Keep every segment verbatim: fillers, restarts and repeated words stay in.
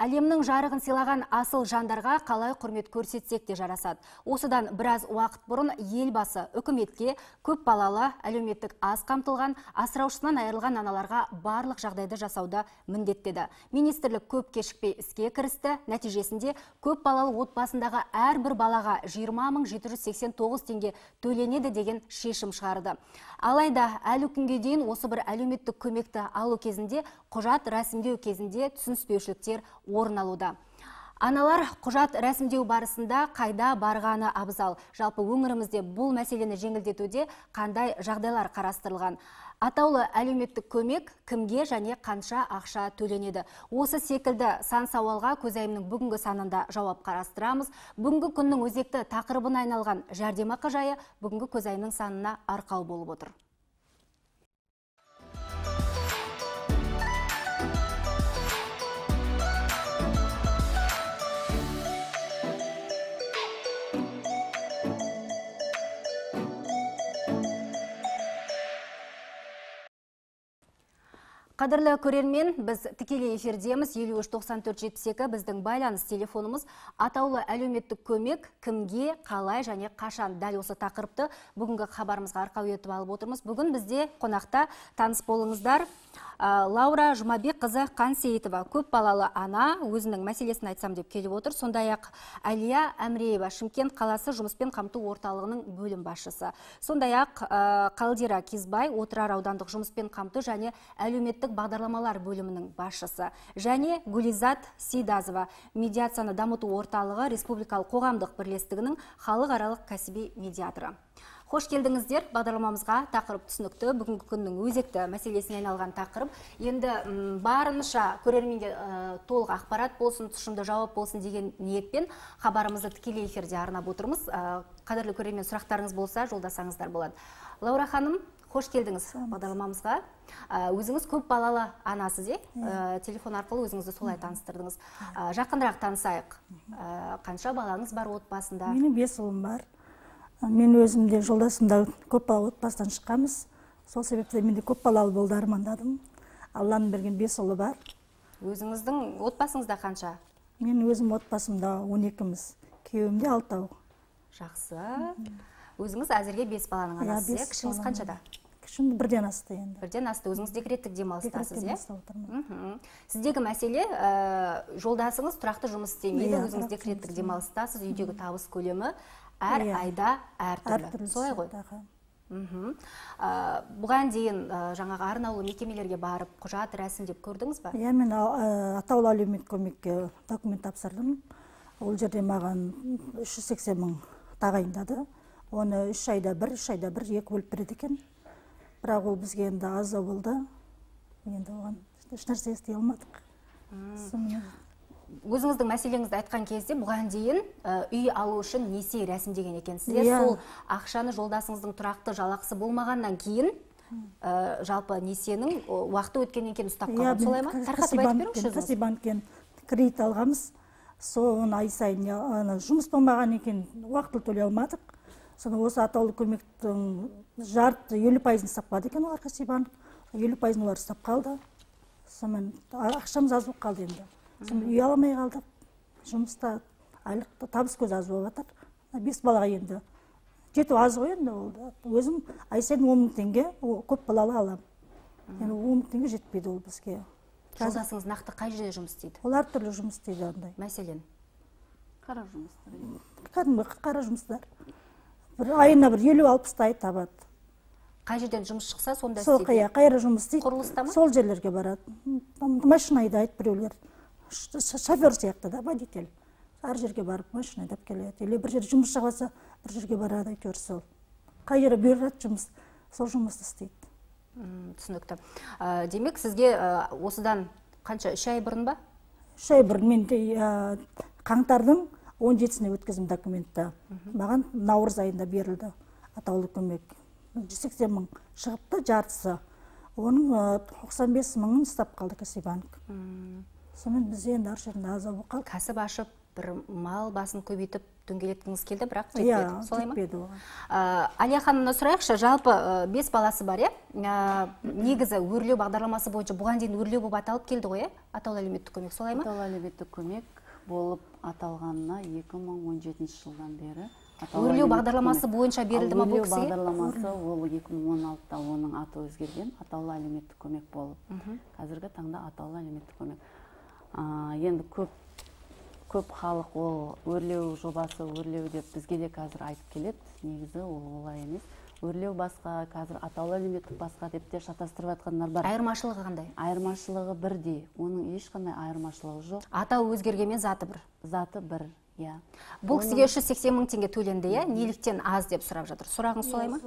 Әлемнің жарығын сыйлаған асыл жандарға қалай құрмет көрсетсек те жарасады. Осыдан біраз уақыт бұрын елбасы үкіметке көп балалы, әлеуметтік аз қамтылған, асыраушысынан айырылған аналарға барлық жағдайды жасауды міндеттеді. Министрлік көп кешікпей іске кірісті. Нәтижесінде көп балалы отбасындағы әрбір балаға жиырма мың жеті жүз сексен тоғыз теңге төленеді деген шешім шығарды. Алайда әлі күнге дейін осы бір әлеуметтік көмекті алу кезінде құжат рәсімдеу кезінде түсініспеушіліктер орын алуда. Аналар құжат рәсімдеу барысында қайда барғаны абзал. Жалпы өңірімізде бұл мәселені жеңілдетуде қандай жағдайлар қарастырылған? Атаулы әлеуметтік көмек кімге және қанша ақша төленеді? Осы секілді сан сауалға көзайымның бүгінгі санында жауап қарастырамыз. Бүгінгі күннің өзекті тақырыбына айналған жәрдемақы жайы бүгінгі көзайымның санына арқау болып отыр. Қадірлі көрермен, біз тікелей эфирдеміз. Елу үш тоқсан төрт жетпіс екі біздің байланыс телефонымыз. Атаулы әлеуметтік көмек кімге, қалай және қашан? Дәл осы тақырыпты бүгінгі хабарымызға арқау етіп алып отырмыз. Бүгін бізде қонақта таныс болыңыздар. Лаура Жұмабек қызы Қансейітова көп балалы ана, өзінің мәселесін айтсам деп келіп отыр. Сондай-ақ Әлия Әміреева Шымкент қаласы жұмыспен қамту орталығының бөлім басшысы. Сондай-ақ Қалдира Кезбай Отырар аудандық жұмыспен қамту және әлеуметтік бағдарламалар бөлімінің басшысы. Және Гулизат Сейдазова медиацияны дамыту орталығы Республикалық қоғамдық бірлестігінің халықаралық кәсіби медиаторы. Хош келдіңіздер, бағдарламамызға тақырып түсінікті, бүгінгі күннің өзекті мәселесіне айналған тақырып. Енді барынша көрерменге толық ақпарат болсын, тұшымды жауап болсын деген ниетпен хабарымызды тікелей эфирде арнап отырмыз. Қадірлі көрермен, сұрақтарыңыз болса, жолдасаңыздар болады. Лаура ханым, хош келдіңіз бағдарламамызға. Өзіңіз көп балалы анасыз, е? Телефон арқылы өзіңізді солай таныстырдыңыз. Жақындырақ танысайық. Қанша балаңыз бар отбасында? Менің бес ұлым бар. Мен өзімде жолдасымда көп балалы отбасынан шыққанбыз. Сол себепті менде көп балалы болуды армандадым. Алланың берген бес ұлы бар. Өзіңіздің отбасыңызда қанша? Мен өзім отбасымда он екіміз, күйеуімде алтау. Жақсы. Өзіңіз әзірге бес баланың анасы, кішіңіз қаншада? Кішім бірден асты енді. Бірден асты. Өзіңіз декреттік демалыстасыз, е? Декреттік демалыста. Сіздегі мәселе, жолдасыңыз тұрақты жұмыс істемейді, өзіңіз декреттік демалыстасыз, үйдегі табыс көлемі әр айда әр түрлі. Солай ғой? Бұған дейін жаңағы арнаулы мекемелерге барып, құжат рәсімдеп көрдіңіз ба? Иә, мен атаулы әлеуметтік көмекке документ тапсырдым. Ол жерде маған үш жүз сексен мың тағайындады. Оны үш айда бір, үш айда бір, екі бөліп береді екен. Бірақ ол бізге енді аздау болды. Енді оған ешнәрсе істей алмадық. Өзіңіздің мәселеңізді айтқан кезде бұған дейін үй алу үшін несие рәсімдеген екенсіздер. Сол ақшаны жолдасыңыздың тұрақты жалақысы болмағаннан кейін жалпы несиенің уақыты өткеннен кейін ұстап қалған, солай ма? Тарқатып айтып беріңізші өзіңіз. Кәсіпбанктен кредит алғанбыз. Соны ай сайын жұмыс болмаған екен, уақытылы төлей алмадық. Соны осы атаулы көмектің жарты елу пайызын ұстап қалды екен олар Кәсіпбанк. елу пайызын олар ұстап қалды. Сонымен ақшамыз аз болып қалды енді. Үй аламай қалдық. Жұмыста айлықта табыс көзі аз болып жатыр. Бес балаға енді жету аз ғой енді ол. Өзім ай сайын он мың теңге көп балалы аламын. Енді он мың теңге жетпейді ол бізге. Жолдасыңыз нақты қай жерде жұмыс істейді? Олар түрлі жұмыс істейді андай. Мәселен? Қара жұмыстар. Кәдімгі қара жұмыстар. Бір айына бір елу алпыстай табады. Қай жерден жұмыс шықса, сонда істейді? Сол қайра жұмыс істейді. Құрылыста ма? Сол жерлерге барады. Машина айдайды біреулер. Шофер сияқты да, водитель. Әр жерге барып машина айдап келеді. Или бір жер жұмыс шығаса, бір жерге барады, әйтеуір сол. Қай жері бұйырады жұмыс, сол жұмысты істейді. Түсінікті. Демек, сізге осыдан қанша, үш ай бұрын ба? Үш ай бұрын мен қаңтардың он жетісіне өткізім документті. Маған наурыз айында берілді атаулы көмек. жүз сексен мың шығыпты жартысы. Оның тоқсан бес мыңын ұстап қалды Кәсіпбанк. Сонымен біз енді ар жерінде аза болып қалды. Кәсіп ашып бір мал басын көбейтіп дөңгелеткіңіз келді, бірақ Иә, жетпеді. Солай ма? жетпеді оған. Ә, Әлия ханымнан сұрайықшы, жалпы ә, бес баласы бар, иә? Ә, негізі өрлеу бағдарламасы бойынша бұған дейін өрлеу болып аталып келді ғой, иә? Атаулы әлеуметтік көмек, солай ма? Атаулы әлеуметтік көмек болып аталғанына екі мың он жетінші жылдан бері. Өрлеу бағдарламасы бойынша берілді ма бұл кісіге? Өрлеу бағдарламасы ол екі мың он алтыда оның аты өзгерген, атаулы әлеуметтік көмек болып. Қазіргі таңда атаулы әлеуметтік көмек. А, енді көп көп халық ол өрлеу жобасы, өрлеу деп бізге де қазір айтып келеді. Негізі ол олай емес. Өрлеу басқа, қазір атаулы әлеуметтік басқа деп те шатастырып жатқандар бар. Айырмашылығы қандай? Айырмашылығы бірдей. Оның ешқандай айырмашылығы жоқ. Атау өзгергенмен заты бір. Заты бір, иә. Бұл кісіге үш жүз сексен мың теңге төленді, иә? Неліктен аз деп сұрап жатыр. Сұрағыңыз солай ма?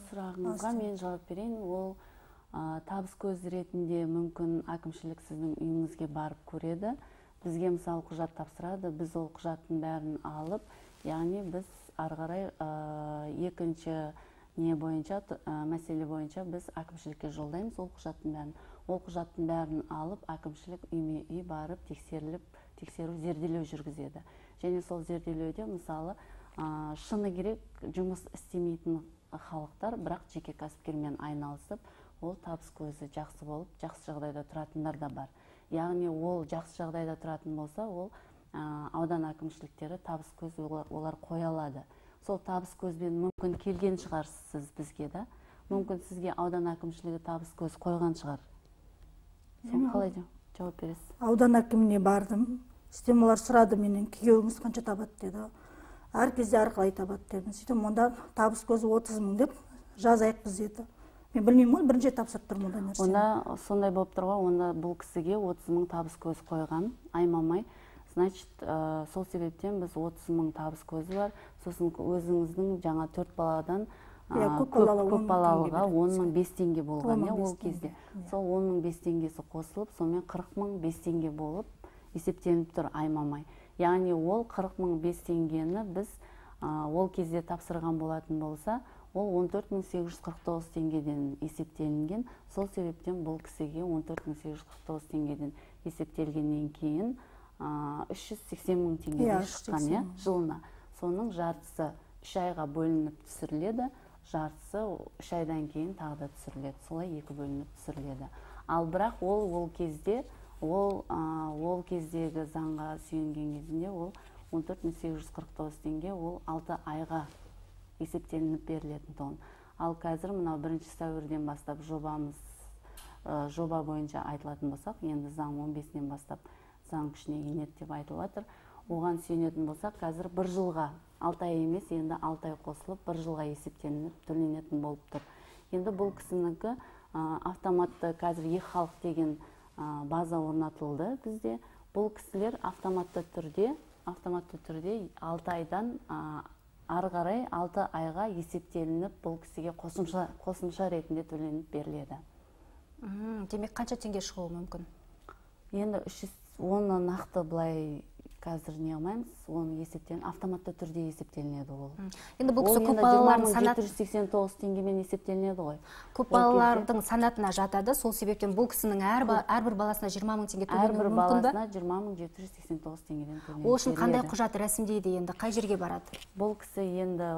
Сұрағыңызға мен жауап берейін. Ол а, табыс көзі ретінде мүмкін әкімшілік сіздің үйіңізге барып көреді. Бізге мысалы құжат тапсырады, біз ол құжаттың бәрін алып, яғни біз ары қарай а, екінші не бойынша, а, мәселе бойынша біз әкімшілікке жолдаймыз ол құжаттың бәрін. Ол құжаттың бәрін алып, әкімшілік үйме үй барып тексеріліп, тексеру зерделеу жүргізеді. Және сол зерделеуде мысалы а, шыны керек жұмыс істемейтін халықтар, бірақ жеке кәсіпкермен айналысып, ол табыс көзі жақсы болып, жақсы жағдайда тұратындар да бар. Яғни ол жақсы жағдайда тұратын болса, ол а, аудан әкімшіліктері табыс көз олар, олар қоя алады. Сол табыс көзбен мүмкін келген шығарсыз бізге да. Мүмкін сізге аудан әкімшілігі табыс көз қойған шығар. Сол қалай жауап бересіз? Аудан әкіміне бардым. Сөйтем олар сұрады менен, күйеуіңіз қанша табады деді. Әр кезде әрқалай табады дедім. Сөйтем онда табыс көзі отыз мың деп жазайық біз деді. Мен білмеймін ғой, бірінші тапсырып тұрмын ондай нәрсені. Онда сондай болып тұр ғой, онда бұл кісіге отыз мың табыс көз қойған, аймамай. Значит, ә, сол себептен біз отыз мың табыс көзі бар. Сосын өзіңіздің жаңа төрт баладан ә, көп, көп балалыға он мың бес теңге болған, иә, ол кезде. Сол он мың бес теңгесі қосылып, сонымен қырық мың бес теңге болып есептеніп тұр аймамай. Яғни ол қырық мың бес теңгені біз ә, ол кезде тапсырған болатын болса, ол он төрт мың сегіз жүз қырық тоғыз теңгеден есептелінген. Сол себептен бұл кісіге он төрт мың сегіз жүз қырық тоғыз теңгеден есептелгеннен кейін үш жүз сексен мың теңге шыққан, иә, жылына. Соның жартысы үш айға бөлініп түсіріледі, жартысы үш айдан кейін тағы да түсіріледі. Солай екі бөлініп түсіріледі. Ал бірақ ол ол кезде, ол ол кездегі заңға сүйенген кезінде ол он төрт мың сегіз жүз қырық тоғыз теңге ол алты айға есептелініп берілетін тұғын. Ал қазір мынау бірінші сәуірден бастап жобамыз, ә, жоба бойынша айтылатын болсақ, енді заң он бесінен бастап заң күшіне енеді деп айтылатыр. Оған сүйенетін болсақ, қазір бір жылға, алты ай емес, енді алты ай қосылып, бір жылға есептелініп, төленетін болып тұр. Енді бұл кісінікі ә, автоматты қазір e-халық деген ә, база орнатылды бізде. Бұл кісілер автоматты түрде, автоматты түрде алты айдан ә, ары қарай алты айға есептелініп, бұл кісіге қосымша, қосымша ретінде төленіп беріледі. Демек, қанша теңге шығуы мүмкін? Енді үш жүз оны нақты былай қазір не алмаймыз, оны есептен, автоматты түрде есептелінеді ол. Енді бұл кісі көп балалардың санат... жеті жүз сексен тоғыз теңгемен есептелінеді ғой. Көп балалардың санатына жатады, сол себептен бұл кісінің әрбір баласына жиырма мың теңге төленуі мүмкін бе? Әрбір баласына жиырма мың жеті жүз сексен тоғыз теңгеден төленеді. Ол үшін қандай құжат рәсімдейді енді, қай жерге барады? Бұл кісі енді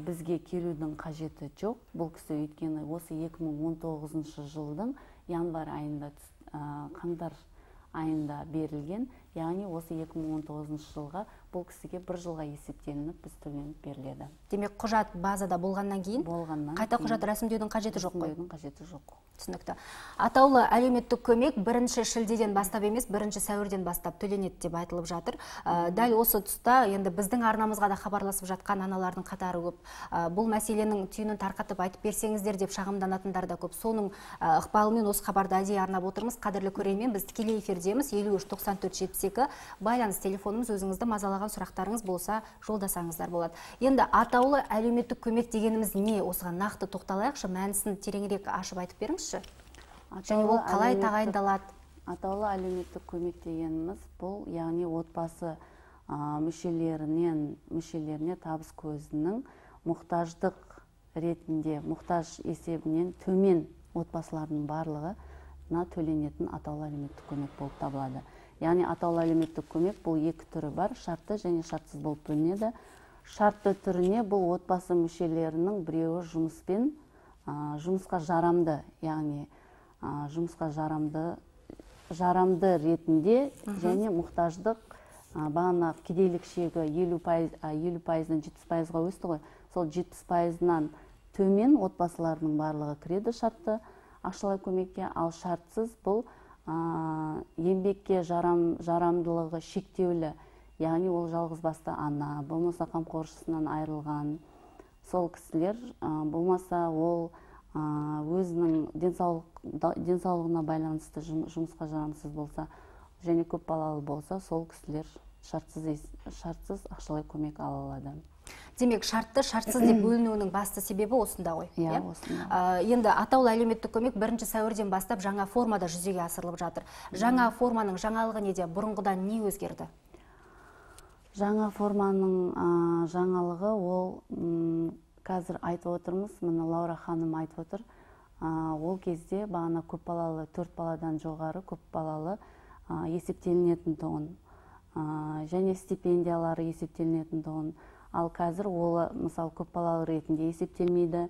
бізге келудің қажеті жоқ. Бұл кісі өйткені осы екі мың он тоғызыншы жылдың январь айында, қаңтар айында берілген, яғни осы екі мың он тоғызыншы жылға бұл кісіге бір жылға есептелініп, біз төленіп беріледі. Демек, құжат базада болғаннан кейін, болғаннан қайта құжат рәсімдеудің қажеті жоқ қой? Рәсімдеудің қажеті жоқ. Түсінікті. Атаулы әлеуметтік көмек бірінші шілдеден бастап емес, бірінші сәуірден бастап төленеді деп айтылып жатыр. Дәл осы тұста енді біздің арнамызға да хабарласып жатқан аналардың қатары көп. Бұл мәселенің түйінін тарқатып айтып берсеңіздер деп шағымданатындар да көп. Соның ықпалымен осы хабарды әдейі арнап отырмыз. Қадірлі көрермен, біз тікелей эфирдеміз. елу үш тоқсан төрт жетпіс екі байланыс телефонымыз, өзіңізді мазалаған сұрақтарыңыз болса жолдасаңыздар болады. Енді атаулы әлеуметтік көмек дегеніміз не? Осыған нақты тоқталайықшы, мәнісін тереңірек ашып айтып беріңізші. Және ол қалай тағайындалады? Атаулы әлеуметтік көмек дегеніміз бұл, яғни отбасы мүшелерінен мүшелеріне табыс көзінің мұқтаждық ретінде, мұқтаж есебінен төмен отбасылардың барлығына төленетін атаулы әлеуметтік көмек болып табылады. Яғни атаулы әлеуметтік көмек бұл екі түрі бар, шартты және шартсыз болып бөлінеді. Шартты түріне бұл отбасы мүшелерінің біреуі жұмыспен жұмысқа жарамды, яғни жұмысқа жарамды жарамды ретінде және мұқтаждық бағана кедейлік шегі елу пайыздан жетпіс пайызға өсті ғой. Сол жетпіс пайызынан төмен отбасылардың барлығы кіреді шартты ақшалай көмекке, ал шартсыз бұл еңбекке жарамдылығы шектеулі, яғни ол жалғыз басты ана, болмаса қамқоршысынан айырылған сол кісілер, болмаса ол өзінің денсаулығына байланысты жұмысқа жарамсыз болса және көп балалы болса, сол кісілер шартсыз ақшалай көмек ала алады. Демек, шартты шартсыз деп бөлінуінің басты себебі осында ғой. Иә, осында. Енді атаулы әлеуметтік көмек бірінші сәуірден бастап жаңа формада жүзеге асырылып жатыр. Жаңа форманың жаңалығы неде? Бұрынғыдан не өзгерді? Жаңа форманың жаңалығы ол қазір айтып отырмыз, мына Лаура ханым айтып отыр. Ол кезде бағана көп балалы, төрт баладан жоғары көп балалы есептелінетін тұғын. Және стипендиялары есептелінетін тұғын. Ал қазір ол, мысалы, көп балалы ретінде есептелмейді.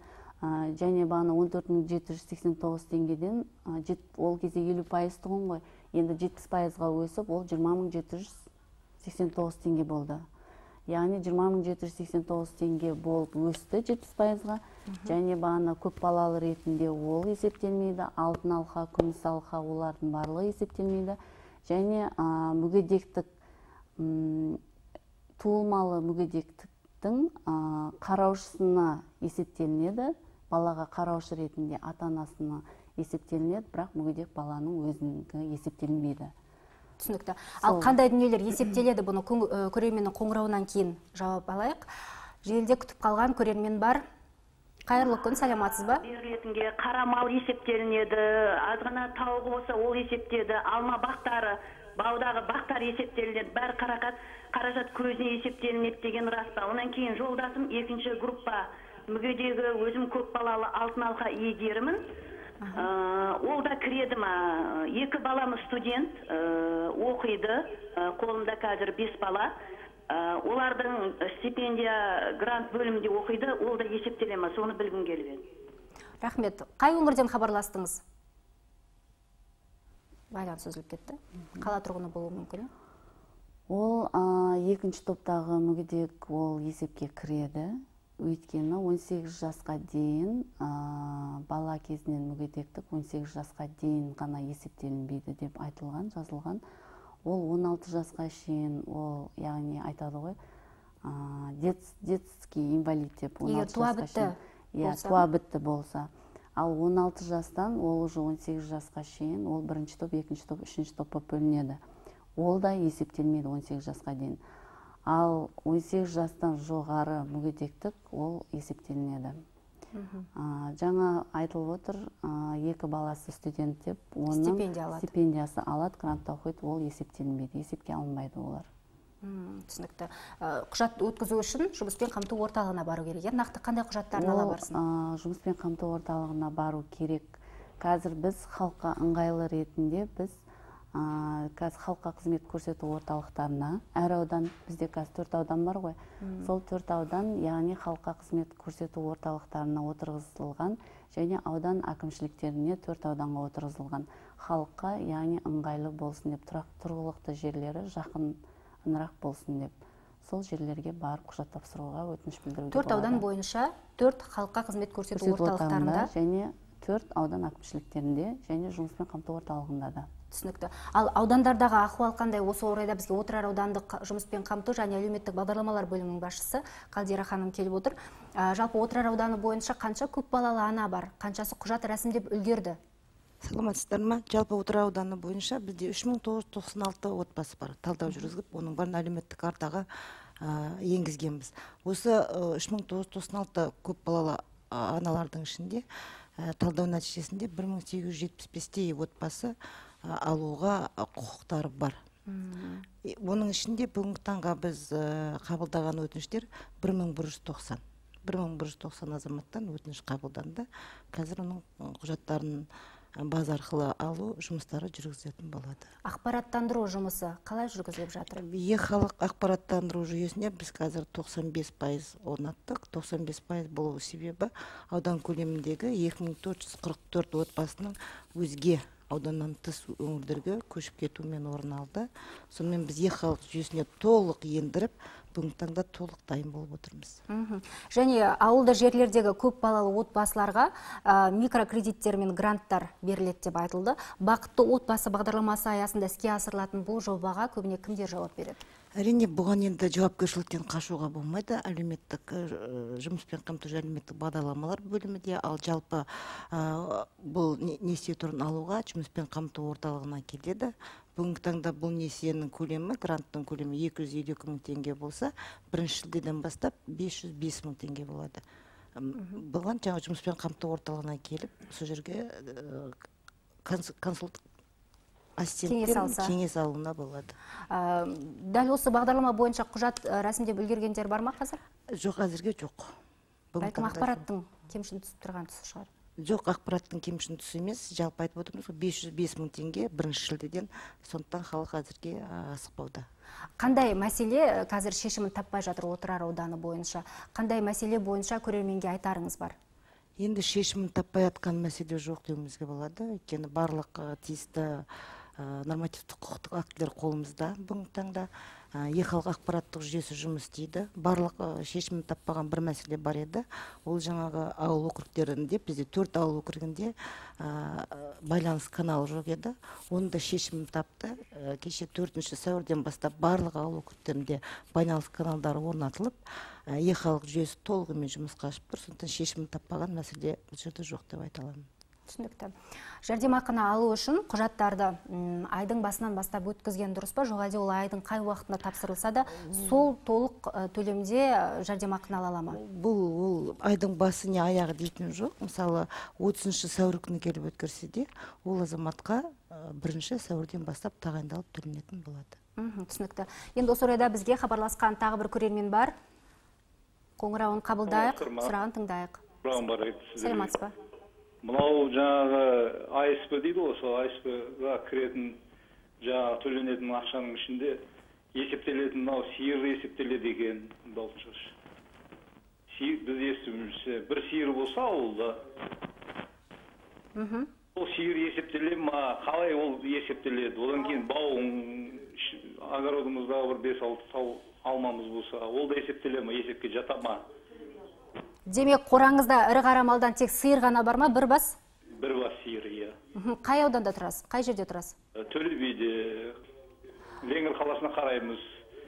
Және бағана он төрт мың жеті жүз сексен тоғыз теңгеден ол кезде елу пайыз тұғын ғой. Енді жетпіс пайызға өсіп, ол жиырма мың жеті жүз сексен тоғыз теңге болды. Яғни жиырма мың жеті жүз сексен тоғыз теңге болып өсті жетпіс пайызға. Және бағана көп балалы ретінде ол есептелмейді. Алтын алқа, күміс алқа олардың барлығы есептелмейді. Және мүгедектік, туылмалы мүгедектіктің қараушысына есептелінеді. Балаға қараушы ретінде ата-анасына есептелінеді, бірақ мүгедек баланың өзінікі есептелінбейді. Түсінікті. Ал қандай дүниелер есептеледі, бұны көрерменнің қоңырауынан кейін жауап алайық. Желіде күтіп қалған көрермен бар. Қайырлы күн, саламатсыз ба? Берілетінге қара мал есептелінеді, азғана тауығы болса ол есептеді, алма бақтары, баудағы бақтар есептелінеді, бәрі қаражат көзіне есептелінеді деген рас па? Онан кейін жолдасым екінші группа мүгедегі өзім көп балалы алтын алқа иегерімін. Ол да кіреді ма? Екі балам студент оқиды, қолымда қазір бес бала. Олардың стипендия грант бөлімінде оқиды, ол да есептеле ма? Соны білгім келіп еді. Рахмет. Қай өңірден хабарластыңыз? Байланыс үзіліп кетті. Қала тұрғыны болуы мүмкін? Ол екінші топтағы мүгедек ол есепке кіреді. Өйткені он сегіз жасқа дейін бала кезінен мүгедектік он сегіз жасқа дейін ғана есептелінбейді деп айтылған, жазылған. Ол он алты жасқа шейін, ол яғни айтады ғой, детский инвалид деп. Егер туа бітті болса. Туа бітті болса. Ал он алты жастан ол уже он сегіз жасқа шейін, ол бірінші топ, екінші топ, үшінші топқа бөлінеді. Ол да есептелмейді он сегіз жасқа дейін. Ал он сегіз жастан жоғары мүгедектік ол есептелінеді. Жаңа айтылып отыр, екі баласы студент деп, оның стипендиясы алады, грантта оқиды, ол есептелінбейді, есепке алынбайды олар. Түсінікті. Құжат өткізу үшін жұмыспен қамту орталығына бару керек. Нақты қандай құжаттарын ала барсын? Жұмыспен қамту орталығына бару керек. Қазір біз халыққа ыңғайлы ретінде біз қазір халыққа қызмет көрсету орталықтарына, әр аудан, бізде қазір төрт аудан бар ғой, сол төрт аудан, яғни халыққа қызмет көрсету орталықтарына отырғызылған, және аудан әкімшіліктеріне төрт ауданға отырғызылған. Халыққа, яғни ыңғайлы болсын деп, тұрғылықты жерлері жақынырақ болсын деп, сол жерлерге барып құжат тапсыруға өтініш білдіруге болады. Төрт аудан бойынша төрт халыққа қызмет көрсету орталықтарында және төрт аудан әкімшіліктерінде және жұмыспен қамту орталығында да. Түсінікті. Ал аудандардағы ахуал қандай? Осы орайда бізге Отырар аудандық жұмыспен қамту және әлеуметтік бағдарламалар бөлімінің басшысы Қалдира ханым келіп отыр. Жалпы Отырар ауданы бойынша қанша көп балалы ана бар? Қаншасы құжат рәсімдеп үлгерді? Саламатсыздар ма? Жалпы Отырар ауданы бойынша бізде үш мың тоғыз жүз тоқсан алты отбасы бар. Талдау жүргізіп, оның барын әлеуметтік картаға енгізгенбіз. Осы үш мың тоғыз жүз тоқсан алты көп балалы аналардың ішінде талдау нәтижесінде бір мың сегіз жүз жетпіс бестей отбасы алуға құқықтары бар. Оның ішінде бүгінгі таңға біз қабылдаған өтініштер бір мың бір жүз тоқсан. бір мың бір жүз тоқсан азаматтан өтініш қабылданды. Қазір оның құжаттарын база арқылы алу жұмыстары жүргізілетін болады. Ақпараттандыру жұмысы қалай жүргізіліп жатыр? Е-халық ақпараттандыру жүйесіне біз қазір тоқсан бес пайыз орнаттық. тоқсан бес пайыз болу себебі аудан көлеміндегі екі мың төрт жүз қырық төрт отбасының өзге ауданнан тыс өңірлерге көшіп кетумен орын алды. Сонымен біз е-халық жүйесіне толық ендіріп, бүгінгі таңда толық дайын болып отырмыз. Және ауылды жерлердегі көп балалы отбасыларға микрокредиттер мен гранттар беріледі деп айтылды. Бақытты отбасы бағдарламасы аясында іске асырылатын бұл жобаға көбіне кімдер жауап береді? Әрине, бұған енді жауапкершіліктен қашуға болмайды. Әлеуметтік жұмыспен қамту әлеуметтік бағдарламалар бөлімінде, ал жалпы бұл несие түрін алуға жұмыспен қамту орталығына келеді. Бүгінгі таңда бұл несиенің көлемі, гранттың көлемі екі жүз елу екі мың теңге болса, бірінші шілдеден бастап бес жүз бес мың теңге болады. Бұған жаңа жұмыспен қамту орталығына келіп, сол жерге консулт ассистенттер кеңес алуына болады. Дәл осы бағдарлама бойынша құжат рәсімдеп үлгергендер бар ма қазір? Жоқ, әзірге жоқ. Бәлкім ақпараттың кемшін түсіп тұрған тұсы шығар? Жоқ, ақпараттың кемшін түсі емес, жалпы айтып отырмыз, бес жүз бес мың теңге бірінші шілдеден, сондықтан халық әзірге асықпауда. Қандай мәселе қазір шешімін таппай жатыр Отырар ауданы бойынша? Қандай мәселе бойынша көрерменге айтарыңыз бар? Енді шешімін таппай жатқан мәселе жоқ деуімізге болады. Өйткені барлық тиісті нормативтік құқықтық актілер қолымызда бүгінгі таңда. Е-халық ақпараттық жүйесі жұмыс істейді. Барлық шешімін таппаған бір мәселе бар еді. Ол жаңағы ауыл округтерінде, бізде төрт ауыл округінде байланыс каналы жоқ еді. Оны да шешімін тапты. Кеше төртінші сәуірден бастап барлық ауыл округтерінде байланыс каналдары орнатылып, е-халық жүйесі толығымен жұмысқа ашып тұр. Сондықтан шешімін таппаған мәселе бұл жерде жоқ деп айта аламын. Түсінікті. Жәрдемақыны алу үшін құжаттарды айдың басынан бастап өткізген дұрыс па? Жоқ, әлде ол айдың қай уақытында тапсырылса да, сол толық төлемде жәрдемақыны ала ала ма? Бұл айдың басы не аяғы дейтін жоқ. Мысалы, отызыншы сәуір күні келіп өткерсе де, ол азаматқа бірінші сәуірден бастап тағайындалып төленетін болады. Түсінікті. Енді осы орайда бізге хабарласқан тағы бір көрермен бар. Қоңырауын қабылдайық, сұрағын тыңдайық. Сәлематсыз ба? Мынау жаңағы А С П дейді ғой, сол А С П-ға кіретін жаңағы төленетін ақшаның ішінде есептелетін, мынау сиыр есептеледі екен, даусыз. Біз естуімізше бір сиыр болса ауылда, ол сиыр есептеле ма, қалай ол есептеледі? Одан кейін бауын, огородымыздағы бір бес алты тау алмамыз болса, ол да есептеле ма, есепке жата ма? Демек, қораңызда ірі қара малдан тек сиыр ғана бар ма, бір бас? Бір бас сиыр, иә. Қай ауданда тұрасыз? Қай жерде тұрасыз? Төле биде, Ленгір қаласына қараймыз.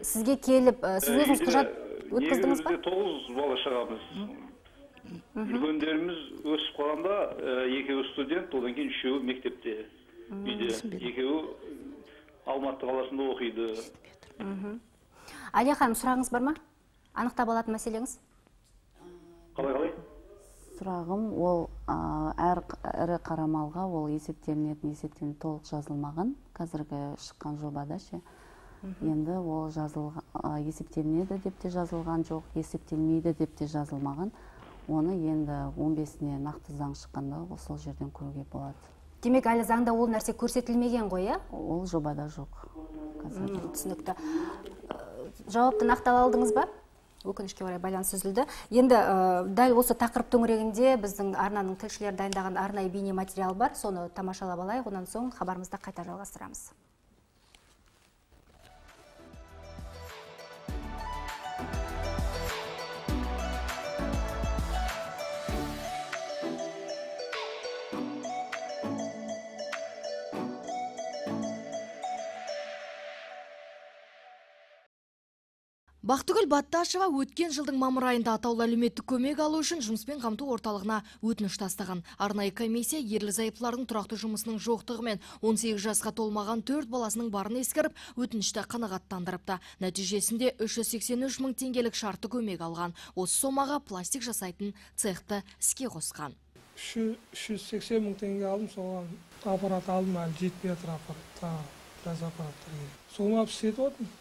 Сізге келіп, сіз өзіңіз құжат өткіздіңіз ба? Негізінде тоғыз бала шығамыз. Үлкендеріміз өсіп қалғанда, екеуі студент, одан кейін үшеуі мектепте. Биде, екеуі Алматы қаласында оқиды. Әлия ханым, сұрағыңыз бар ма? Анықтап алатын мәселеңіз? Қалай-қалай? Сұрағым, ол әр ірі қарамалға ол есептелінетін есептелінетін толық жазылмаған, қазіргі шыққан жобада ше. Енді ол есептелінеді деп те жазылған жоқ, есептелмейді деп те жазылмаған. Оны енді он бесіне нақты заң шыққанда сол жерден көруге болады. Демек, әлі заңда ол нәрсе көрсетілмеген ғой, е? Ол жобада жоқ. Түсінікті. Жауапты нақтылай алдыңыз ба? Өкінішке орай байланыс үзілді. Енді дәл осы тақырып төңірегінде біздің арнаның тілшілері дайындаған арнайы бейне материал бар. Соны тамашалап алайық, онан соң хабарымызды қайта жалғастырамыз. Бақтыгүл Батташева өткен жылдың мамыр айында атаулы әлеуметтік көмек алу үшін жұмыспен қамту орталығына өтініш тастаған. Арнайы комиссия ерлі-зайыптылардың тұрақты жұмысының жоқтығымен он сегіз жасқа толмаған төрт баласының барын ескеріп, өтінішті қанағаттандырыпты. Нәтижесінде үш жүз сексен үш мың теңгелік шартты көмек алған. Осы сомаға пластик жасайтын цехты іске қосқан. үш жүз сексен мың теңге алдым, соған аппарат алдым, әлі жетпей жатыр аппарат, біраз аппараттар. Соны алып істетіп отырмын.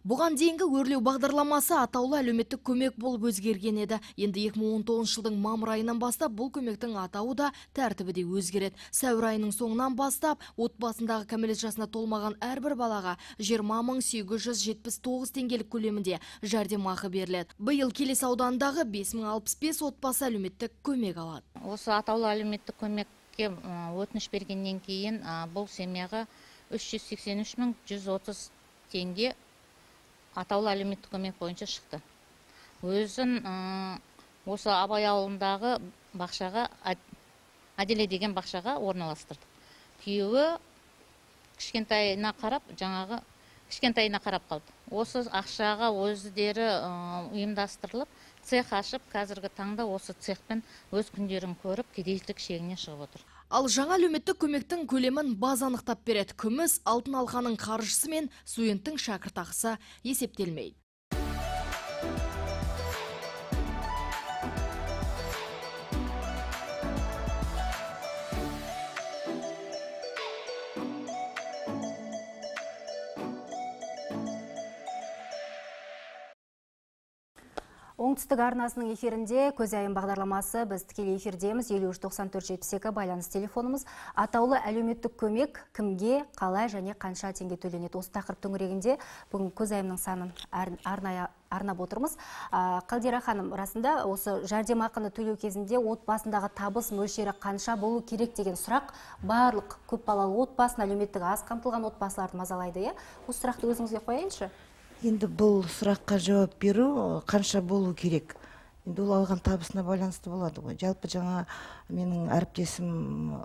Бұған дейінгі өрлеу бағдарламасы атаулы әлеуметтік көмек болып өзгерген еді. Енді екі мың он тоғызыншы жылдың мамыр айынан бастап бұл көмектің атауы да тәртібі де өзгереді. Сәуір айының соңынан бастап отбасындағы кәмелет жасына толмаған әрбір балаға жиырма мың сегіз жүз жетпіс тоғыз теңгелік көлемінде жәрдемақы беріледі. Биыл Келес ауданындағы бес мың алпыс бес отбасы әлеуметтік көмек алады. Осы атаулы әлеуметтік көмекке өтініш бергеннен кейін бұл семьяға үш жүз сексен үш мың жүз отыз теңге атаулы әлеуметтік көмек бойынша шықты. Өзін осы Абай ауылындағы бақшаға, Әделе деген бақшаға орналастырды. Күйеуі кішкентайына қарап, жаңағы кішкентайына қарап қалды. Осы ақшаға өздері ұйымдастырылып, цех ашып, қазіргі таңда осы цехпен өз күндерін көріп, кедейлік шегіне шығып отыр. Ал жаңа әлеуметтік көмектің көлемін баз анықтап береді. Күміс алтын алқаның қаржысы мен студенттің шәкіртақысы есептелмейді. Оңтүстік арнасының эфирінде көзайым бағдарламасы. Біз тікелей эфирдеміз. елу үш тоқсан төрт жетпіс екі байланыс телефонымыз. Атаулы әлеуметтік көмек кімге, қалай және қанша теңге төленеді? Осы тақырып төңірегінде бүгін көзайымның санын арнайы арнап отырмыз. Қалдира ханым, расында осы жәрдемақыны төлеу кезінде отбасындағы табыс мөлшері қанша болу керек деген сұрақ барлық көпбалалы отбасын, әлеуметтік аз қамтылған отбасыларды мазалайды. Осы сұрақты өзіңізге қояйыншы. Енді бұл сұраққа жауап беру қанша болу керек? Енді ол алған табысына байланысты болады ғой. Жалпы жаңа менің әріптесім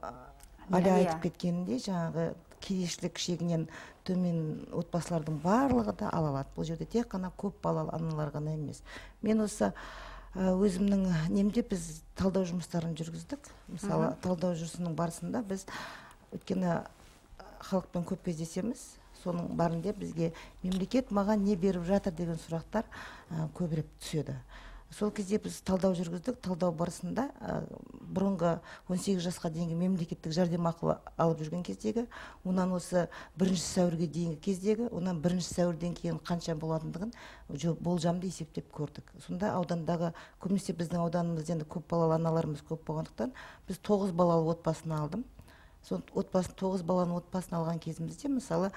Аля айтып кеткенінде, жаңағы кедейшілік шегінен төмен отбасылардың барлығы да ала алады. Бұл жерде тек қана көп балалы аналар ғана емес. Мен осы өзімнің немде біз талдау жұмыстарын жүргіздік. Мысалы, талдау жүрісінің барысында біз өткені халықпен көп кездесеміз. Соның барында бізге мемлекет маған не беріп жатыр деген сұрақтар көбірек түседі. Сол кезде біз талдау жүргіздік. Талдау барысында бұрынғы он сегіз жасқа дейінгі мемлекеттік жәрдемақы алып жүрген кездегі, онан осы бірінші сәуірге дейінгі кездегі, онан бірінші сәуірден кейін қанша болатындығын болжамды есептеп көрдік. Сонда аудандағы, көбінесе біздің ауданымызда енді көп балалы аналарымыз көп болғандықтан, біз тоғыз балалы отбасын алдым. Сон отбасын тоғыз баланы отбасын алған кезімізде, мысалы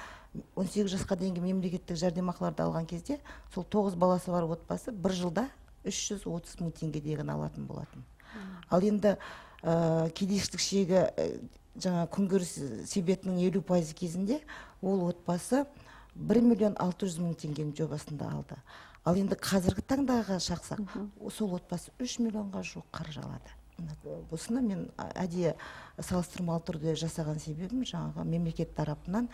он сегіз жасқа дейінгі мемлекеттік жәрдемақыларды алған кезде, сол тоғыз баласы бар отбасы бір жылда үш жүз отыз мың теңгеден алатын болатын. Ал енді кедейшілік шегі жаңа күнкөріс себетінің елу пайызы кезінде ол отбасы бір миллион алты жүз мың теңгенің жобасында алды. Ал енді қазіргі таңдағы шақсақ, сол отбасы үш миллионға жуық қаржы алады. Осыны мен әдейі салыстырмалы түрде жасаған себебім жаңағы мемлекет тарапынан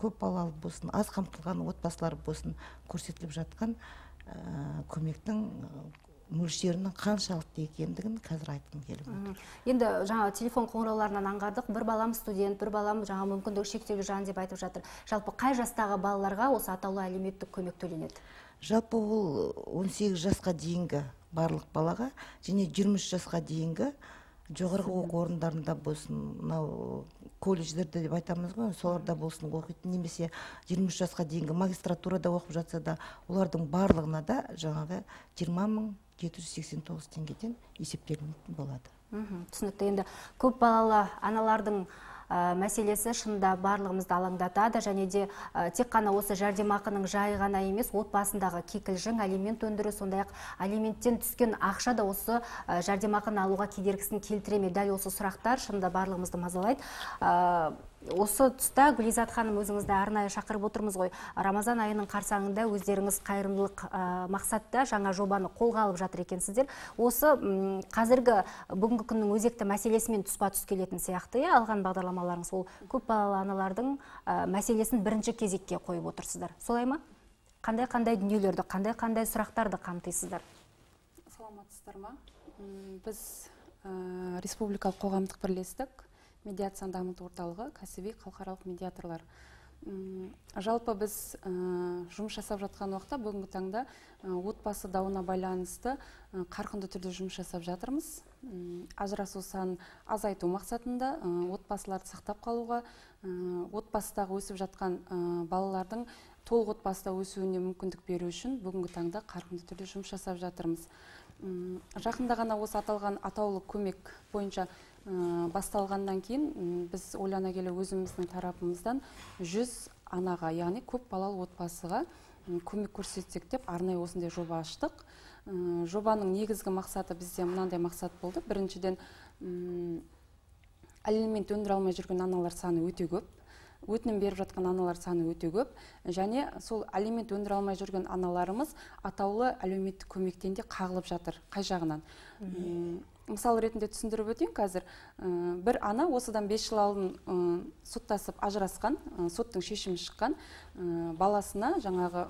көп балалы болсын, аз қамтылған отбасылар болсын көрсетіліп жатқан көмектің мөлшерінің қаншалықты екендігін қазір айтқым келіп отыр. Енді жаңа телефон қоңырауларынан аңғардық, бір балам студент, бір балам жаңа мүмкіндігі шектеулі жан деп айтып жатыр. Жалпы қай жастағы балаларға осы атаулы әлеуметтік көмек төленеді? Жалпы ол он сегіз жасқа дейінгі барлық балаға және жиырма үш жасқа дейінгі жоғарғы оқу орындарында болсын, мынау колледждерде деп айтамыз ғой, соларда болсын оқитын, немесе жиырма үш жасқа дейінгі магистратурада оқып жатса да, олардың барлығына да жаңағы жиырма мың жеті жүз сексен тоғыз теңгеден есептелінетін болады. Түсінікті. Енді көп балалы аналардың мәселесі шында барлығымызды алаңдатады, және де тек қана осы жәрдемақының жайы ғана емес, отбасындағы кикілжің, алимент өндіру, сондай-ақ алименттен түскен ақша да осы жәрдемақыны алуға кедергісін келтіре ме? Дәл осы сұрақтар шында барлығымызды мазалайды. Осы тұста Гүлизат ханым, өзіңізді арнайы шақырып отырмыз ғой. Рамазан айының қарсаңында өздеріңіз қайырымдылық мақсатта жаңа жобаны қолға алып жатыр екенсіздер. Осы қазіргі бүгінгі күннің өзекті мәселесімен тұспа тұс келетін сияқты, алған бағдарламаларыңыз ол көп балалы аналардың мәселесін бірінші кезекке қойып отырсыздар. Солай ма? Қандай-қандай дүниелерді, қандай-қандай сұрақтарды қамтисыздар? Саламатсыздар ма? Біз республикалық қоғамдық бірлестік медиацияны дамыту орталығы, кәсіби халықаралық медиаторлар. Жалпы біз жұмыс жасап жатқан уақытта бүгінгі таңда отбасы дауына байланысты қарқынды түрде жұмыс жасап жатырмыз. Ажырасу санын азайту мақсатында отбасыларды сақтап қалуға, отбасыдағы өсіп жатқан балалардың толық отбасыда өсуіне мүмкіндік беру үшін бүгінгі таңда қарқынды түрде жұмыс жасап жатырмыз. Жақында ғана осы аталған атаулы көмек бойынша басталғаннан кейін біз ойлана келе өзіміздің тарапымыздан жүз анаға, яғни көп балалы отбасыға көмек көрсетсек деп арнайы осындай жоба аштық. Жобаның негізгі мақсаты бізде мынандай мақсат болды. Біріншіден, алимент өндіре алмай жүрген аналар саны өте көп. Өтінім беріп жатқан аналар саны өте көп. Және сол алимент өндіре алмай жүрген аналарымыз атаулы әлеуметтік көмектен де қағылып жатыр. Қай жағынан? Мысал ретінде түсіндіріп өтейін қазір. Бір ана осыдан бес жыл алдын соттасып ажырасқан, соттың шешімі шыққан, баласына жаңағы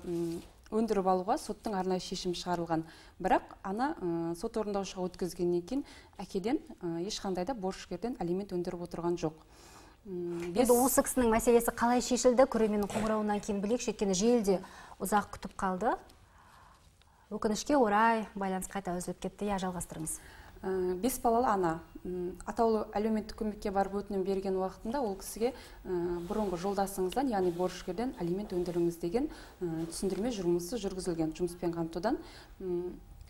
өндіріп алуға соттың арнайы шешімі шығарылған. Бірақ ана сот орындаушыға өткізгеннен кейін әкеден ешқандай да борышкерден алимент өндіріп отырған жоқ. Енді осы кісінің мәселесі қалай шешілді? Көрерменнің қоңырауынан кейін білейікші, өйткені желіде ұзақ күтіп қалды. Өкінішке орай байланыс қайта үзіліп кетті. Я, жалғастырыңыз. Бес балалы ана атаулы әлеуметтік көмекке барып өтінім берген уақытында ол кісіге бұрынғы жолдасыңыздан, яғни борышкерден алимент өндіріңіз деген түсіндірме жұмысы жүргізілген жұмыспен қамтудан.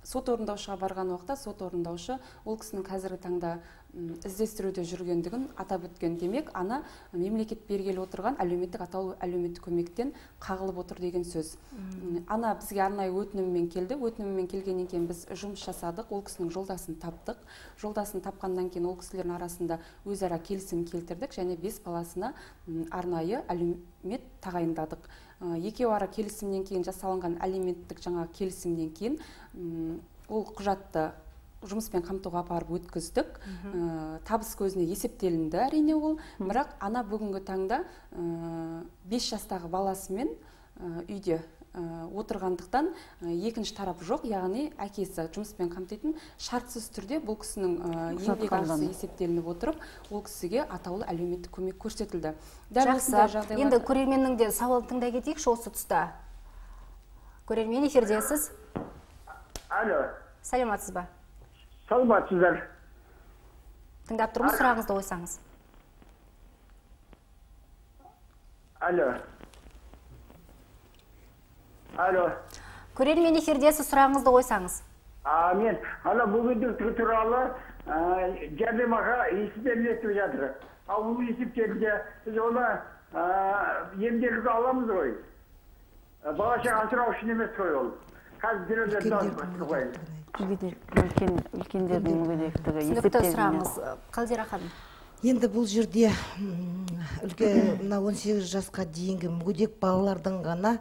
Сот орындаушыға барған уақытта сот орындаушы ол кісінің қазіргі таңда іздестіруде жүргендігін атап өткен. Демек, ана мемлекет бергелі отырған әлеуметтік атаулы әлеуметтік көмектен қағылып отыр деген сөз. Ана бізге арнайы өтініммен келді. Өтініммен келгеннен кейін біз жұмыс жасадық. Ол кісінің жолдасын таптық. Жолдасын тапқаннан кейін ол кісілердің арасында өзара келісім келтірдік және бес баласына арнайы әлеумет тағайындадық. Екеуі ара келісімнен кейін жасалынған әлеуметтік жаңа келісімнен кейін ол құжатты жұмыспен қамтуға апарып өткіздік. Табыс көзіне есептелінді әрине ол. Бірақ ана бүгінгі таңда бес жастағы баласымен үйде отырғандықтан екінші тарап жоқ, яғни әкесі жұмыспен қамтитын шартсыз түрде бұл кісінің еңбек ақысы есептелініп отырып, ол кісіге атаулы әлеуметтік көмек көрсетілді. Жақсы. Енді көрерменнің де сауалын тыңдай кетейікші осы тұста. Көрермен, эфирдесіз. Алло. Сәлеметсіз ба? Саламатсыздар. Тыңдап тұрмыз, сұрағыңызды қойсаңыз. Алло. Алло. Көрермен, эфирдесіз, сұрағыңызды қойсаңыз. Мен ана бүгіндік туралы жәрдемақы есептелініп жатыр. Ал бұл есептелінде біз оны емделуге аламыз ғой. Бала-шаға асырау үшін емес қой ол. Қазір үлкендердің мүгедектігі түсінікті сұрағыңыз. Қалдира ханым. Енді бұл жерде он сегіз жасқа дейінгі мүгедек балалардың ғана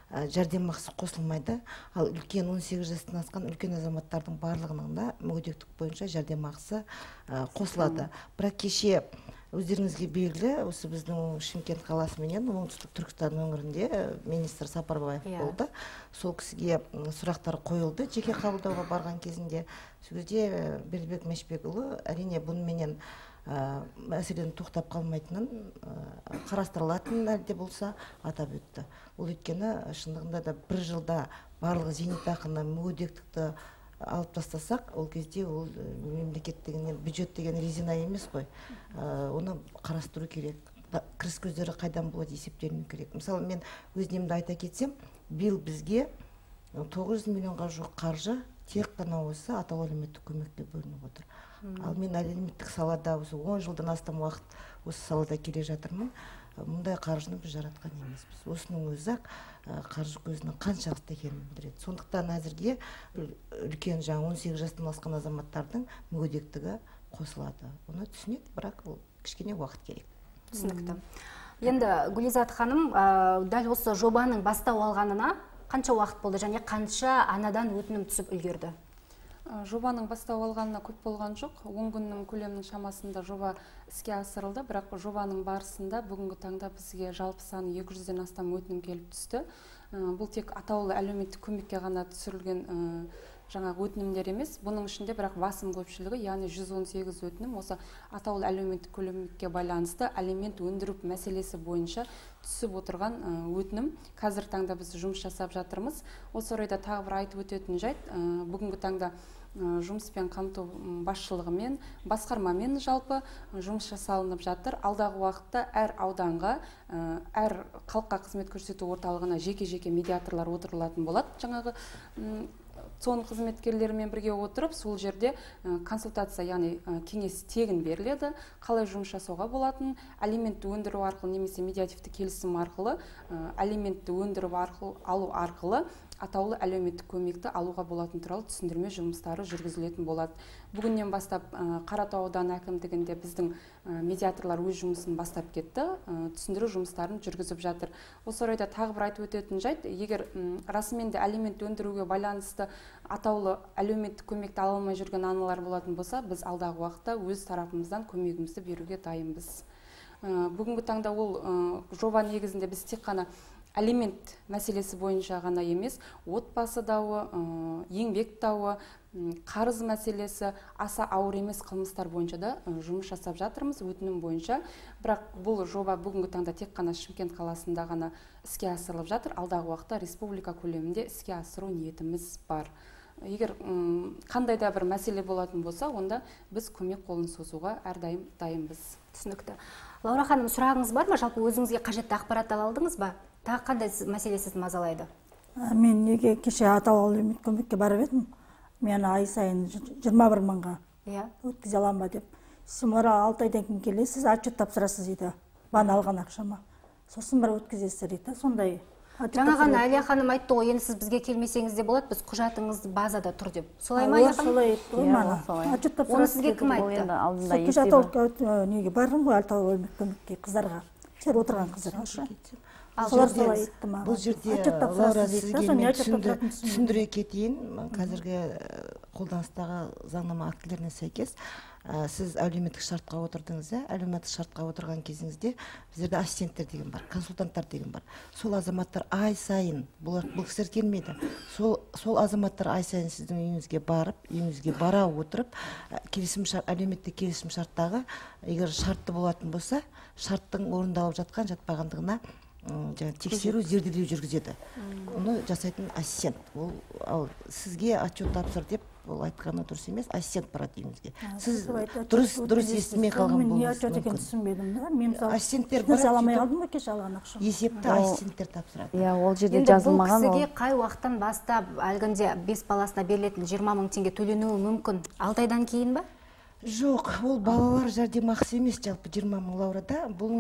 жәрдемақысы қосылмайды. Ал үлкен он сегіз жастан асқан үлкен азаматтардың барлығының да мүгедектік бойынша жәрдемақысы қосылады. Бірақ кеше өздеріңізге белгілі, осы біздің Шымкент қаласы менен оңтүстік Түркістан өңірінде министр Сапарбаев болды. Сол кісіге сұрақтар қойылды жеке қабылдауға барған кезінде. Сол кезде Бердібек Мәшбекұлы әрине бұнымен мәселені тоқтап қалмайтынын, қарастырылатынын әлде болса атап өтті. Ол өйткені шындығында да бір жылда барлығы зейнетақыны, мүгедектікті алып тастасақ, ол кезде ол мемлекет деген, бюджет деген резина емес қой. Оны қарастыру керек. Кіріс көздері қайдан болады есептеліну керек. Мысалы, мен өзнемді айта кетсем, биыл бізге тоғыз жүз миллионға жоқ қаржы тек қана осы атаулы әлеуметтік көмекке бөлініп отыр. Ал мен әлеуметтік салада осы он жылдан астам уақыт осы салада келе жатырмын. Мұндай қаржыны біз жаратқан емеспіз. Осының өзі-ақ қаржы көзінің қаншалықты екенін білдіреді. Сондықтан әзірге үлкен жаңа он сегіз жастан асқан азаматтардың мүгедектігі қосылады. Оны түсінеді, бірақ ол кішкене уақыт керек. Түсінікті. Енді Гүлизат ханым, дәл осы жобаның бастау алғанына қанша уақыт болды және қанша анадан өтінім түсіп үлгерді? Жобаның бастау алғанына көп болған жоқ. он күннің көлемінің шамасында жоба іске асырылды, бірақ жобаның барысында бүгінгі таңда бізге жалпы саны екі жүзден астам өтінім келіп түсті. Бұл тек атаулы әлеуметтік көмекке ғана түсірілген жаңағы өтінімдер емес, бұның ішінде бірақ басым көпшілігі, яғни жүз он сегіз өтінім осы атаулы әлеуметтік көмекке байланысты алимент өндіру мәселесі бойынша түсіп отырған өтінім. Қазір таңда біз жұмыс жасап жатырмыз. Осы орайда тағы бір айтып өтетін жайт, бүгінгі таңда жұмыспен қамту басшылығымен, басқармамен жалпы жұмыс жасалынып жатыр. Алдағы уақытта әр ауданға, әр халыққа қызмет көрсету орталығына жеке-жеке медиаторлар отырылатын болады. Жаңағы соның қызметкерлерімен бірге отырып, сол жерде консультация, яғни кеңес тегін беріледі, қалай жұмыс жасауға болатын, алиментті өндіру арқылы немесе медиативті келісім арқылы, алиментті өндіріп алу арқылы атаулы әлеуметтік көмекті алуға болатын туралы түсіндірме жұмыстары жүргізілетін болады. Бүгіннен бастап Қаратау ауданы әкімдігінде біздің медиаторлар өз жұмысын бастап кетті, түсіндіру жұмыстарын жүргізіп жатыр. Осы орайда тағы бір айтып өтетін жайт, егер расымен де алимент өндіруге байланысты атаулы әлеуметтік көмекті ала алмай жүрген аналар болатын болса, біз алдағы уақытта өз тарапымыздан көмегімізді беруге дайынбыз. Бүгінгі таңда ол жоба негізінде біз тек қана алимент мәселесі бойынша ғана емес, отбасы дауы, еңбек дауы, қарыз мәселесі, аса ауыр емес қылмыстар бойынша да жұмыс жасап жатырмыз, өтінім бойынша. Бірақ бұл жоба бүгінгі таңда тек қана Шымкент қаласында ғана іске асырылып жатыр. Алдағы уақытта республика көлемінде іске асыру ниетіміз бар. Егер қандай да бір мәселе болатын болса, онда біз көмек қолын созуға әрдайым дайынбыз. Түсінікті. Лаура ханым, сұрағыңыз бар ма? Жалпы өзіңізге қажетті ақпарат ала алдыңыз ба? Тағы қандай мәселе сізді мазалайды? Мен неге кеше атаулы әлеуметтік көмекке барып едім, мен ай сайын жиырма бір мыңға өткізе аламын ба деп. Сіз алты айдан кейін келесіз, отчет тапсырасыз дейді, бана алған ақшама. Сосын бір өткізесіздер дейді, сондай. Жаңа ғана Әлия ханым айтты ғой, енді сіз бізге келмесеңіз де болады, біз құжатыңыз базада тұр деп. Солай ма, Әлия ханым? Солай айтты ғой мана. Оны сізге кім айтты? Кеше атаулы неге бардым ғой, атаулы әлеуметтік көмекке қыздарға, жер отырған қыздарға. Бұл жерде Лаура сізге мен түсіндіре кетейін. Қазіргі қолданыстағы заңнама актілеріне сәйкес сіз әлеуметтік шартқа отырдыңыз, әлеуметтік шартқа отырған кезіңізде біздерде ассистенттер деген бар, консультанттар деген бар. Сол азаматтар ай сайын, бұл кісілер келмейді, сол азаматтар ай сайын сіздің үйіңізге барып, үйіңізге бара отырып, әлеуметтік келісім шарттағы, егер шартты болатын болса, шарттың орындалып жатқан жатпағандығына тексеру, зерделеу жүргізеді. Оны жасайтын ассистент. Ол сізге отчет тапсыр деп ол айтқаны дұрыс емес, ассистент барады үйіңізге. Сіз дұрыс естімей қалған болуыңыз мүмкін. Мен не отчет екенін түсінбедім. Мен ассистенттер аламай алдым ба кеше алған ақшам? Есепті ассистенттер тапсырады. Иә, ол жерде жазылмаған. Бұл кісіге қай уақыттан бастап әлгінде бес баласына берілетін жиырма мың теңге төленуі мүмкін? алты айдан кейін ба? Жоқ, ол балалар жәрдемақысы емес, жалпы жиырма мың Лаурада. Бұл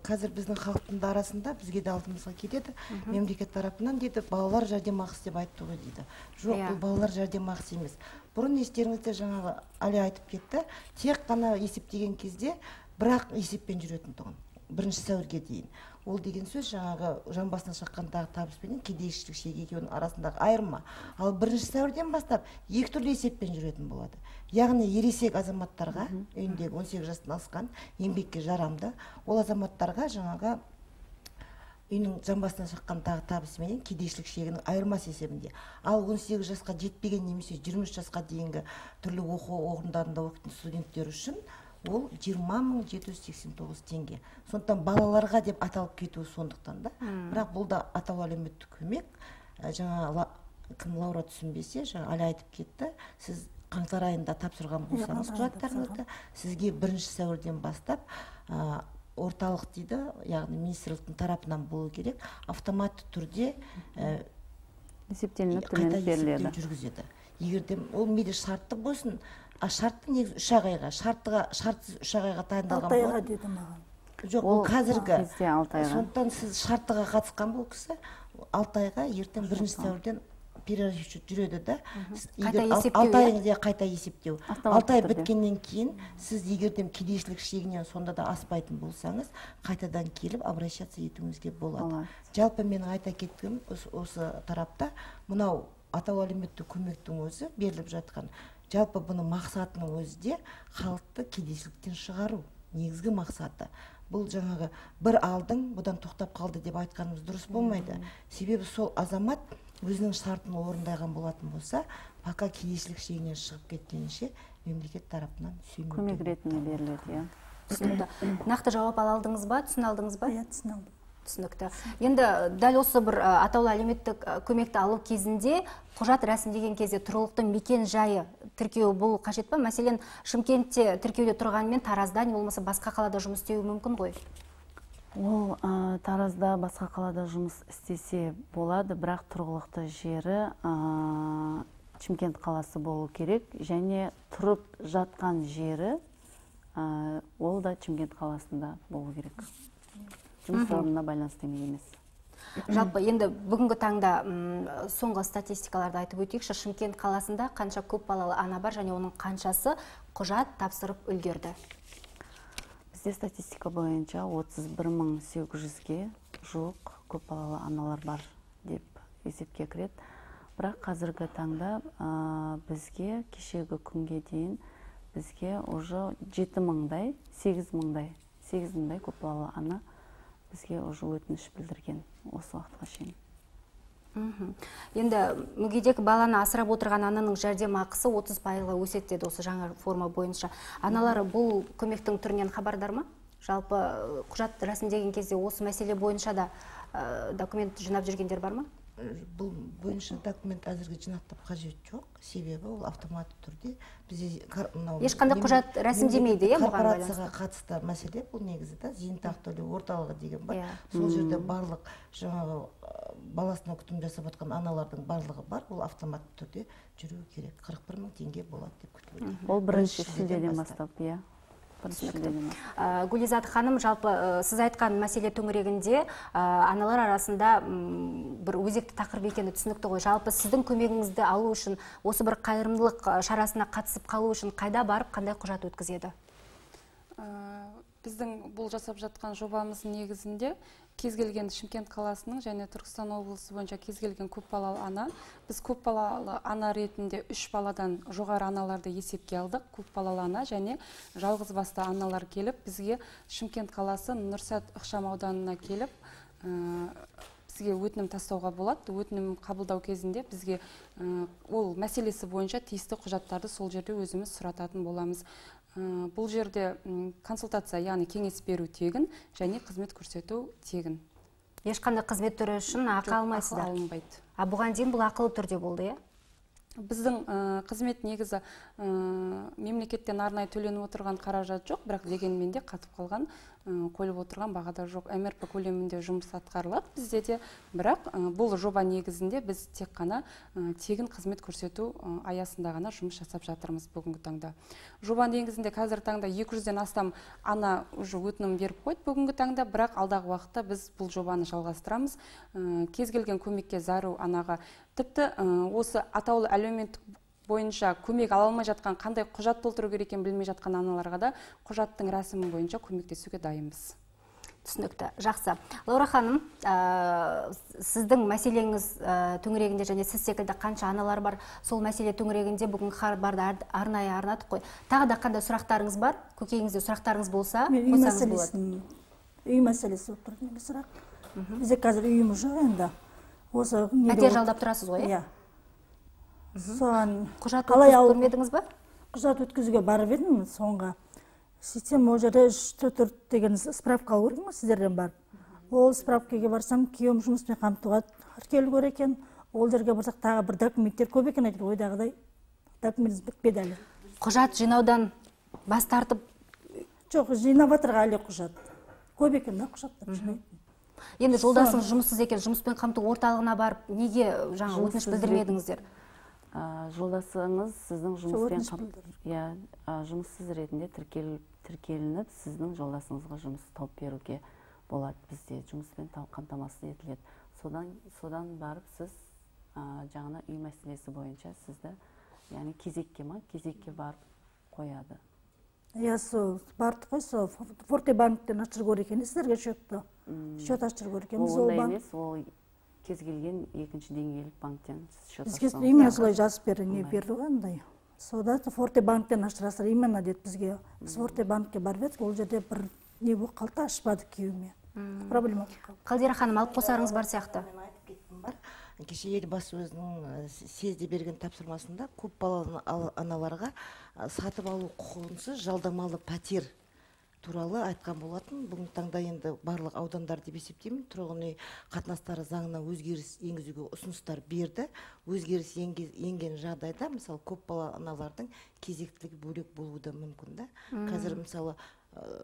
қазір біздің халықтың арасында бізге де алдымызға келеді. Мемлекет тарапынан дейді, балалар жәрдемақысы деп айтты ғой дейді. Жоқ, бұл балалар жәрдемақысы емес. Бұрын естеріңізде жаңағы Али айтып кетті, тек қана есептеген кезде бірақ есеппен жүретін тұғын. Бірінші сәуірге дейін. Ол деген сөз жаңағы жан басына шаққандағы табыспен кедейшілік шегі екеуінің арасындағы айырма. Ал бірінші сәуірден бастап екі түрлі есеппен жүретін болады. Яғни ересек азаматтарға, үйіндегі он сегіз жастан асқан, еңбекке жарамды, ол азаматтарға жаңағы үйінің жан басына шаққандағы табысымен кедейшілік шегінің айырмасы есебінде. Ал он сегіз жасқа жетпеген немесе жиырма үш жасқа дейінгі түрлі оқу орындарында оқитын студенттер үшін ол жиырма мың жеті жүз сексен тоғыз теңге. Сондықтан балаларға деп аталып кетуі сондықтан да. Бірақ бұл да атаулы әлеуметтік көмек. Жаңа кім Лаура түсінбесе, жаңа Али айтып кетті. Сіз қаңтар айында тапсырған болсаңыз құжаттарыңызды, сізге бірінші сәуірден бастап орталық дейді, яғни министрліктің тарапынан болу керек, автоматты түрде есептелініп төленіп беріледі. Жүргізеді. Егерде ол мейлі шартты болсын, а шартты негізі үш ақ айға, шартсыз үш ақ айға тайындалған болады. алты айға деді маған. Жоқ, ол қазіргі. Сондықтан сіз шарттыға қатысқан бұл кісі алты айға ертең бірінші сәуірден перерасчет жүреді да. алты айыңызда қайта есептеу. алты ай біткеннен кейін сіз егерден кедейшілік шегінен сонда да аспайтын болсаңыз, қайтадан келіп обращаться етуіңізге болады. Жалпы менің айта кеткенім осы тарапта мынау атаулы әлеуметтік көмектің өзі беріліп жатқан. Жалпы бұның мақсатының өзі де халықты кедейшіліктен шығару. Негізгі мақсаты. Бұл жаңағы бір алдың бұдан тоқтап қалды деп айтқанымыз дұрыс болмайды. Себебі сол азамат өзінің шартын орындаған болатын болса, пока кедейшілік шегінен шығып кеткенше мемлекет тарапынан көмек ретінде беріледі. Иә. Түсінікті. Нақты жауап ала алдыңыз ба, түсін алдыңыз ба? Иә, түсін алдым. Түсінікті. Енді дәл осы бір атаулы әлеуметтік көмекті алу кезінде құжат рәсімдеген кезде тұрғылықты мекен жайы тіркеу болу қажет па? Мәселен, Шымкентте тіркеуде тұрғанмен Таразда не болмаса басқа қалада жұмыс істеуі мүмкін ғой? Ол Таразда басқа қалада жұмыс істесе болады, бірақ тұрғылықты жері Шымкент қаласы болу керек, және тұрып жатқан жері ол да Шымкент қаласында болу керек. Жұмыс орнына байланысты емес. Жалпы енді бүгінгі таңда соңғы статистикаларды айтып өтейікші, Шымкент қаласында қанша көп балалы ана бар және оның қаншасы құжат тапсырып үлгерді? Бізде статистика бойынша отыз бір мың сегіз жүзге жуық көп балалы аналар бар деп есепке кіреді. Бірақ қазіргі таңда бізге кешегі күнге дейін бізге уже жеті мыңдай, сегіз мыңдай, сегіз мыңдай көп балалы ана бізге уже өтініш білдірген осы уақытқа шейін. Енді мүгедек баланы асырап отырған ананың жәрдемақысы отыз пайызға өседі деді осы жаңа форма бойынша. Аналар бұл көмектің түрінен хабардар ма? Жалпы құжат рәсімдеген кезде осы мәселе бойынша да документ жинап жүргендер бар ма? Бұл бойынша документ әзірге жинақтап қажет жоқ, себебі ол автоматты түрде бізде ешқандай құжат рәсімдемейді, иә, бұған байланысты. Корпорацияға қатысты мәселе бұл негізі да зейнетақы төлеу орталығы деген бар. Сол жерде барлық жаңағы баласына күтім жасап жатқан аналардың барлығы бар, ол автоматты түрде жүруі керек. қырық бір мың теңге болады деп күтілуде. Ол бірінші шілдеден бастап, иә. Гүлизат ханым, жалпы сіз айтқан мәселе төңірегінде аналар арасында бір өзекті тақырып екені түсінікті ғой. Жалпы сіздің көмегіңізді алу үшін, осы бір қайырымдылық шарасына қатысып қалу үшін қайда барып, қандай құжат өткізеді? Біздің бұл жасап жатқан жобамыз негізінде кез келген Шымкент қаласының және Түркістан облысы бойынша кез келген көп балалы ана. Біз көп балалы ана ретінде үш баладан жоғары аналарды есепке алдық. Көп балалы ана және жалғыз басты аналар келіп, бізге Шымкент қаласы Нұрсәт ықшам ауданына келіп, бізге өтінім тастауға болады. Өтінім қабылдау кезінде бізге ол мәселесі бойынша тиісті құжаттарды сол жерде өзіміз сұрататын боламыз. Бұл жерде консультация, яғни кеңес беру тегін және қызмет көрсету тегін. Ешқандай қызмет түрі үшін ақы алмайсыздар? Ақы алынбайды. А бұған дейін бұл ақылы түрде болды, иә? Біздің қызмет негізі мемлекеттен арнайы төленіп отырған қаражат жоқ, бірақ дегенмен де қатып қалған қойылып отырған бағада жоқ. эм эр пэ көлемінде жұмыс атқарылады бізде де, бірақ бұл жоба негізінде біз тек қана тегін қызмет көрсету аясында ғана жұмыс жасап жатырмыз бүгінгі таңда. Жоба негізінде қазір таңда екі жүзден астам ана уже өтінім беріп қойды бүгінгі таңда, бірақ алдағы уақытта біз бұл жобаны жалғастырамыз. Кез келген көмекке зәру анаға, тіпті осы атаулы әлеуметтік бойынша көмек ала алмай жатқан, қандай құжат толтыру керек екенін білмей жатқан аналарға да құжаттың рәсімі бойынша көмектесуге дайынбыз. Түсінікті. Жақсы. Лаура ханым, сіздің мәселеңіз төңірегінде және сіз секілді қанша аналар бар, сол мәселе төңірегінде бүгін хабарды арнайы арнадық қой. Тағы да қандай сұрақтарыңыз бар? Көкейіңізде сұрақтарыңыз болса, қойсаңыз болады. Үй мәселесі болып тұрды неге сұрақ. Бізде қазір үйіміз жоқ енді. Пәтер жалдап тұрасыз ғой, иә? Соған құжат өткізіп көрмедіңіз ба? Құжат өткізуге барып едім соңға. Сөйтсем ол жерде үш төрт деген справка алу керек ма сіздерден барып. Ол справкаға барсам, күйеуім жұмыспен қамтуға тіркелу керек екен. Ол жерге барсақ тағы бір документтер көп екен, айтыр ойдағыдай документ бітпеді әлі. Құжат жинаудан бас тартып? Жоқ, жинап жатырға әлі құжат. Көп екен да құжаттар жинайды. Енді жолдасыңыз жұмыссыз екен, жұмыспен қамту орталығына барып, неге жаңа өтініш білдірмедіңіздер? Жолдасыңыз сіздің жұмыссыз ретінде тіркелініп, сіздің жолдасыңызға жұмыс тауып беруге болады. Бізде жұмыспен қамтамасыз етіледі. Содан барып сіз жаңа үй мәселесі бойынша сізді, яғни кезекке ма, кезекке барып қояды. Иә, сол барды қой, сол Форте банктен ашыр көрек екен, сіздерге шөтті. Шөт ашыр көрек екен. Ол ондай емес, ол кез келген екінші деңгейлік банктен шөт ашырсаңыз. Бізге именно солай жазып берді, не берді ғандай. Сода Форте банктен ашырасыр, именно деді бізге. Біз Форте банкке барып едік, ол жерде бір не бұл қалта ашпады күйеуіме. Проблема. Қалдира ханым, алып қосарыңыз бар сияқты. кеше елбасы өзінің съезде берген тапсырмасында көп балалы аналарға сатып алу құқығынсыз жалдамалы пәтер туралы айтқан болатын. Бүгінгі таңда енді барлық аудандар деп есептеймін, тұрғын үй қатынастары заңына өзгеріс енгізуге ұсыныстар берді. Өзгеріс енген жағдайда, мысалы, көп балалы аналардың кезектілігі бөлек болуы да мүмкін да. Қазір мысалы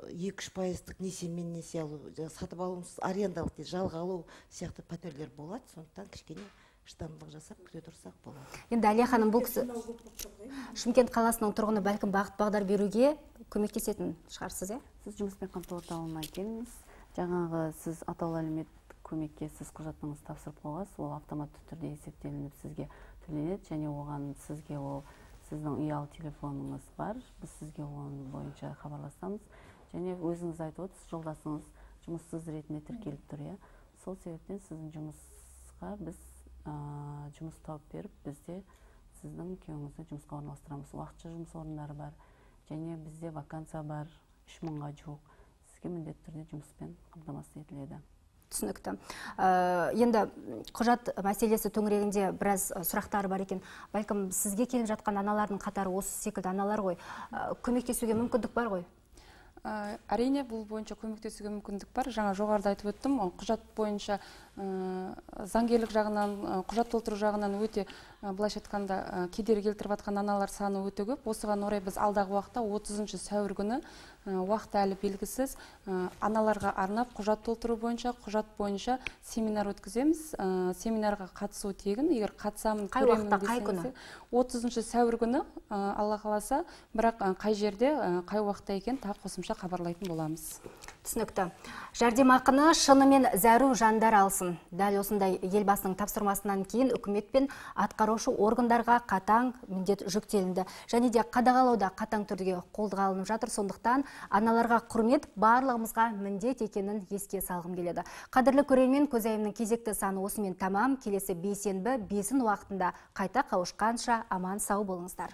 екі үш пайыздық несиемен несие алу, сатып алусыз арендалық дейді, жалға алу сияқты пәтерлер болады. Сондықтан кішкене шыдамдылық жасап күте тұрсақ болады. Енді Әлия ханым, бұл кісі Шымкент қаласының тұрғыны бәлкім бағыт бағдар беруге көмектесетін шығарсыз, е? Сіз жұмыспен қамту орталығына келіңіз. Жаңағы сіз атаулы әлеуметтік көмекке сіз құжатыңызды тапсырып қойғансыз, ол автоматты түрде есептелініп сізге төленеді, және оған сізге ол сіздің ұялы телефоныңыз бар. Біз сізге оның бойынша хабарласамыз. Және өзіңіз айтып отырсыз, жолдасыңыз жұмыссыз ретінде тіркеліп тұр, иә. Сол себептен сіздің жұмысқа біз жұмыс тауып беріп, бізде сіздің күйеуіңізді жұмысқа орналастырамыз. Уақытша жұмыс орындары бар, және бізде вакансия бар, үш мыңға жуық. Сізге міндетті түрде жұмыспен қамтамасыз етіледі. Түсінікті. Енді құжат мәселесі төңірегінде біраз сұрақтар бар екен. Бәлкім сізге келіп жатқан аналардың қатары осы секілді аналар ғой. Көмектесуге мүмкіндік бар ғой? Әрине, бұл бойынша көмектесуге мүмкіндік бар. Жаңа жоғарыда айтып өттім, құжат бойынша заңгерлік жағынан, құжат толтыру жағынан өте, былайша айтқанда, кедергі келтіріп жатқан аналар саны өте көп. Осыған орай біз алдағы уақытта отызыншы сәуір күні уақыты әлі белгісіз аналарға арнап құжат толтыру бойынша, құжат бойынша семинар өткіземіз. Семинарға қатысу тегін. Егер қатысамын, қай уақытта, қай күні? отызыншы сәуір күні, Алла қаласа, бірақ қай жерде, қай уақытта екен тағы қосымша хабарлайтын боламыз. Түсінікті. Жәрдемақыны шынымен зәру жандар алсын. Дәл осындай елбасының тапсырмасынан кейін үкімет пен атқарушы органдарға қатаң міндет жүктелінді. Және де қадағалауда қатаң түрде қолға алынып жатыр. Сондықтан аналарға құрмет барлығымызға міндет екенін еске салғым келеді. Қадірлі көрермен, көзайымның кезекті саны осымен тамам. Келесі бейсенбі бесін уақытында қайта қауышқанша аман сау болыңыздар.